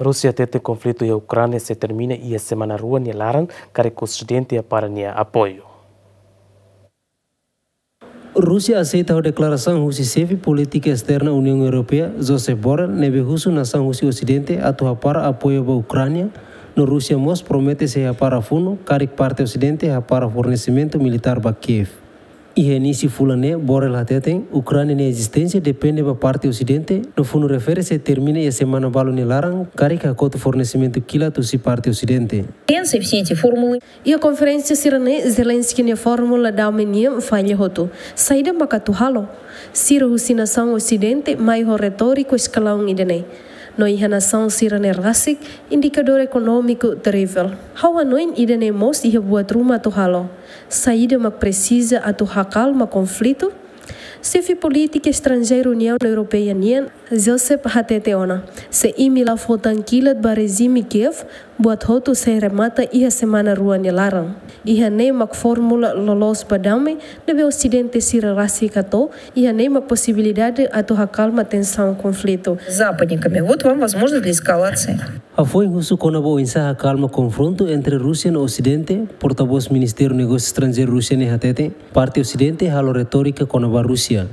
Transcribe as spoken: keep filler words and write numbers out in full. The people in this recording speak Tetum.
Rúsia hatete konflitu iha Ukránia sei termina iha semana rua nia laran, karik Osidente hapara nia apoiu. Rúsia aseita ho deklarasaun husi xefe polítika esterna Uniaun Europeia, Josep Borrell, ne'ebé husu nasaun husi Osidente atu hapara apoiu ba Ukránia, no Rúsia mós promete sei hapara funu, karik parte Osidente hapara fornesimentu militár ba Kiev. Iha inísiu fulan ne'e, Borrell hateten, Ukránia nia ezisténsia depende ba parte Osidente, no funu refere sei termina iha semana balu nia laran, karik hakotu fornesimentu kilat husi parte Osidente. Все эти формулы. Iha konferénsia sira-ne'e, Zelensky nia fórmula dame nian falla hotu. Saida mak atu halo? Sira husi nasaun Osidente mai ho retóriku eskalaun ida-ne'e. No iha nasaun sira-ne'e rasik, indikadór ekonómiku terivel. Ha'u hanoin ida-ne'e mós iha buat ruma atu halo. Saida mak presiza atu hakalma konflitu? Xefe polítika estranjeiru Uniaun Europeia nian, Josep hatete ona, se imi la fó tan kilat ba rejime Kiev, buat hotu sei remata iha semana rua nia laran. Iha ne'e mak fórmula loloos ba dame, ne'ebé Osidente sira rasik hato'o, iha ne'e mak posibilidade atu hakalma tensaun konflitu. С западниками. Вот вам возможность для эскалации. Hafoin husu kona-ba oinsá hakalma konfrontu entre Rúsia no Osidente, portavós Ministériu Negósiu Estranjeiru Rúsia ne'e hatete, parte Osidente halo retórika kona-ba Rúsia.